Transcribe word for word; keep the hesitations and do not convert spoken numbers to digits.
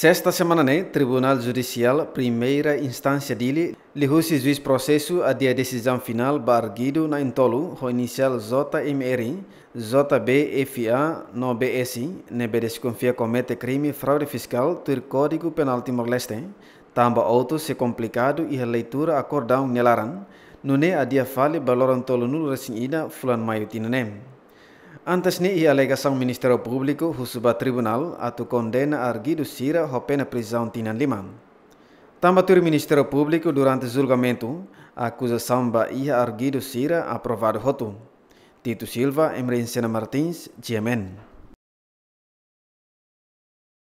Sesta semana ne'e, Tribunál Judisiál Primeira Instánsia Dili liuhusi juís prosesu adia desizaun finál ba arguidu na'in-tolu ho inisiál J M R, J B F A no B S, ne'ebé deskonfia komete krime fraude fiskál tuir Kódigu Penál Timor-Leste, tanba autu sei komplikadu iha leitura akordaun nia laran, nune'e adia fali ba loron tolunulu-resin-ida fulan Maiu tinan ne'e. Antes ne'e, iha alegasaun Ministériu Públiku husu ba tribunál atu kondena arguidu sira ho pena prizaun tinan lima. Tanba tuir Ministériu Públiku, durante julgamentu, akuzasaun ba iha arguidu sira aprovadu hotu. Tito Silva, Emerenciana Martins, G M N.